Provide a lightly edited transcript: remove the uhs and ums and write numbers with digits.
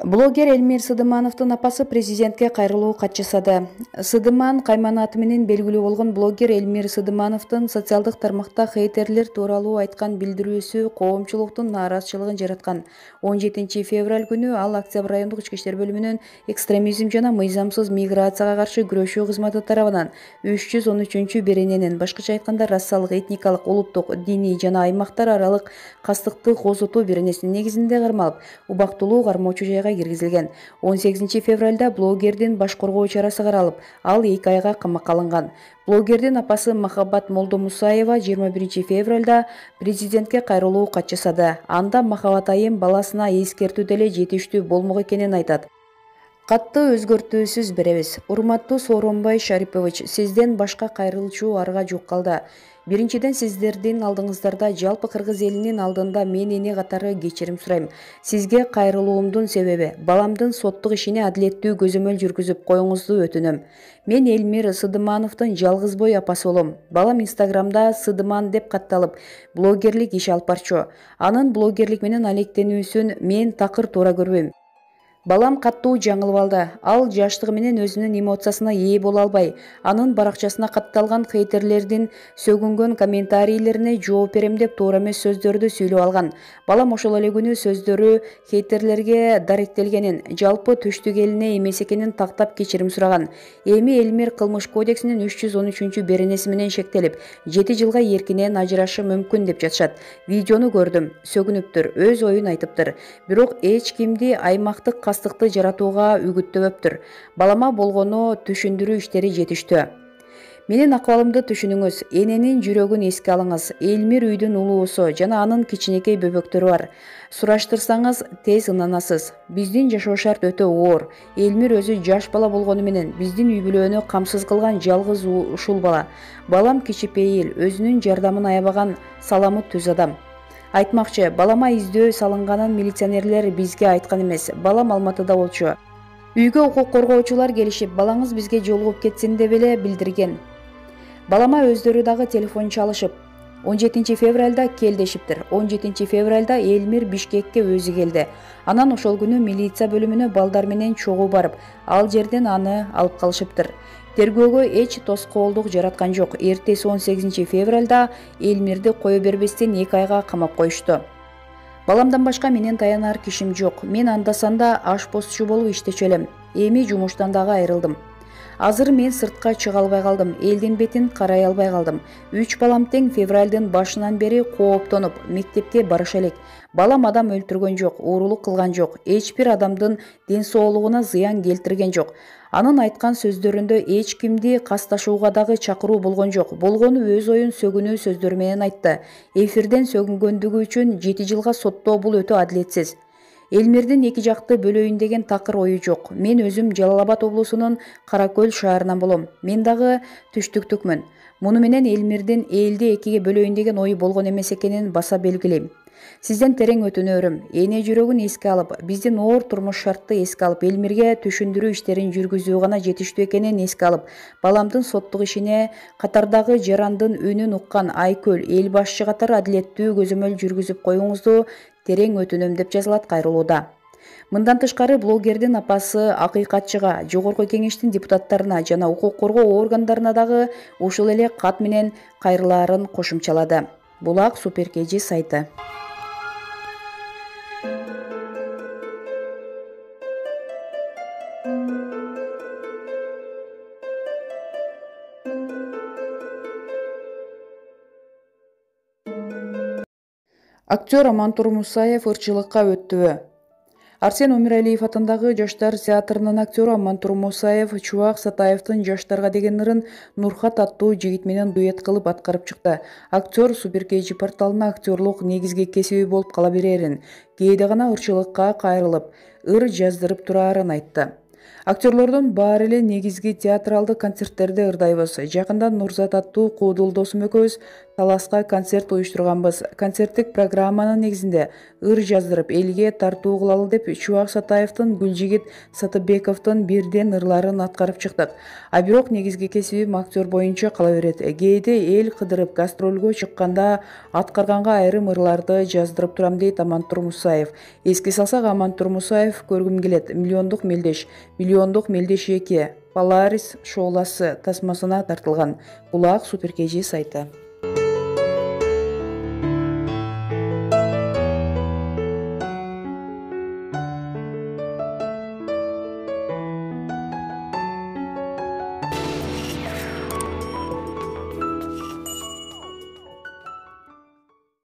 Блогер Эльмир Сыдымановдун апасы президентке кайрылуу кат жасады. Сыдыман Кайман аты менен белгилүү болгон блогер Эльмир Сыдымановдун социалдык тармакта хейтерлер тууралуу айткан билдирүүсү коомчулуктун нааразычылыгын жараткан. 17 февраль күнү ал Октябрь райондук ички иштер бөлүмүнүн экстремизм жана мыйзамсыз миграцияга каршы күрөшүү кызматы тарабынан 313 берененин, башкача айтканда расалык, этникалык, улуттук, диний жана аймактар аралык кастыкты козутуу беренесинин негизинде кармалып, убактылуу кармоочу жайга киргизилген. 18 февралда блогердин баш коргоо чарасы каралып, ал 2 айга камакка алынган. Блогердин апасы Махаббат Молдомусаева 21 февралда президентке кайрылуу кат жасады. Анда Махаббат айым баласына эскертүү деле жетиштүү болмок экенин айтат. Катты өзгөртүүсүз беребиз. Урматтуу Сооронбай Шарипович, сизден башка кайрылчу арга жок калды. Биринчиден, сиздердин алдыңыздарда жалпы кыргыз элинин алдында мен эне катары кечирим сурайм. Сизге кайрылуумдун себеби баламдын соттук ишине адилеттүү көзөмөл жүргүзүп коюңузду өтүнөм. Мен Эльмир Сыдымановдун жалгыз бой апасы болом. Балам Инстаграмда Сыдыман деп катталып, блогерлик иш алып барчу. Анын блогерлик менен алектенүүсүн мен такыр туура көрбөйм. Балам каттуу жаңылып алды. Ал жаштыгы менен өзүнүн эмоциясына ээ боло албай, анын баракчасына катталган хейтерлердин сөгүнгөн комментарийлерине жооп берем деп туура эмес сөздөрдү сүйлөп алган. Балам ошол эле күнү сөздөрү хейтерлерге даректелгенин, жалпы түштүк элине эмес экенин тактап кечирим сураган. Эми Эльмир кылмыш кодексинин 313 беренеси менен шектелип, 7 жылга эркинен ажырашы мүмкүн деп жатышат. Видеону көрдүм, сөгүнүптүр, өз оюн айтыптыр. Бирок эч кимди аймактык кастыкты жаратууга үгүттөбөптүр. Балама болгону түшүндүрүү иштери жетиштүү. Менин акыбалымды түшүнүңүз, эненин жүрөгүн эске алыңыз. Эльмир үйдүн улуусу жана анын кичинекей бөбөктөрү бар. Сураштырсаңыз тез ынанасыз. Биздин жашоо шарт өтө оор. Эльмир өзү жаш бала болгону менен биздин үй бүлөнү камсыз кылган жалгыз ушул бала. Балам кичипейил, өзүнүн жардамын аябаган, саламы түз адам. Айтмакчы, балама издөө салынганын милиционерлер бизге айткан эмес. Балам Алматыда болчу. Үйгө укук коргоочулар келишип, балаңыз бизге жолугуп кетсин деп эле билдирген. Балама өздөрү дагы телефон чалышып, 17 февралда кел дешиптир. 17 февралда Эльмир Бишкекке өзү келди. Анан ошол күнү милиция бөлүмүнө балдар менен чогуу барып, ал жерден аны алып калышыптыр. Тергөөгө эч тоскоолдук жараткан жок. Эртеси 18 февралда Эльмирди кое бербестен 2 айга камап коюшту. Баламдан башка менен таянар кишим жок. Мен анда-санда ашпозчу болуп иштечү элем. Эми жумуштан дагы айрылдым. Азыр мен сыртка чыга албай калдым. Элдин бетин карай албай калдым. 3 балам тең февралдын башынан бери кооптонуп, мектепке барыша элек. Балам адам өлтүргөн жок, уурулук кылган жок, эч бир адамдын ден соолугуна зыян келтирген жок. Анын айткан сөздөрүндө эч кимди касташууга дагы чакыруу болгон жок. Болгону өз оюн сөгүнүү сөздөрү менен айтты. Эфирден сөгүнгөндүгү үчүн 7 жылга соттоо бул өтө адилетсиз. Эльмирдин эки жакты бөлөйүн деген такыр ою жок. Мен өзүм Жалал Абад облусунун Кара Көл шаарынан болом. Мен дагы түштүктүкмүн. Муну менен Эльмирдин элди экиге бөлөйүн деген ою болгон эмес экенин баса белгилейм. Сизден терең өтүнөөрүм. Эне жүрөгүн эске алып, биздин оор турмуш шартты эске алып, Эльмирге түшүндүрүү иштерин жүргүзүү гана жетиштүү экенин эске алып, баламдын соттук ишине катардагы жарандын үнүн уккан Айкөл эл башчы катары адилеттүү көзөмөл жүргүзүп коюңузду терең өтүнөм деп жазылат кайрылууда. Мындан тышкары блогердин апасы акыйкатчыга, жогорку кеңештин депутаттарына жана укук коргоо органдарына дагы ушул эле кат менен кайрылаарын кошумчалады. Булак Суперкеji сайты. Актер Амантур Мусаев ырчылыкка өттүбү? Арсен Өмүралиев атындагы Жаштар театрынын актеру Амантур Мусаев Чубак Сатаевдин жаштарга деген ырын Нурхат аттуу жигит менен дуэт кылып аткарып чыкты. Актер Суперкеji порталына актерлук негизги кесиби болуп кала берерин, кээде гана ырчылыкка кайрылып, ыр жаздырып турарын айтты. Актерлордун баары эле негизги театралдык концерттерде ырдайбыз. Жакында Нурзат аттуу куудул досум экөөбүз таласка концерт уюштурганбыз. Концерттик программанын негизинде ыр жаздырып элге тартуу кылалы деп Чубак Сатаевдин, Гүлжигит Сатыбековдун бирден ырларын аткарып чыктык. А бирок негизги кесибим актер боюнча кала берет. Кээде эл кыдырып гастролго чыкканда аткарганга айрым ырларды жаздырып турам, дейт Амантур Мусаев. Эске салсак, Амантур Мусаев көргүм келет, миллиондук мелдеш 2 Polaris шооласы тасмасына тартылган. Булак Супер KG сайты.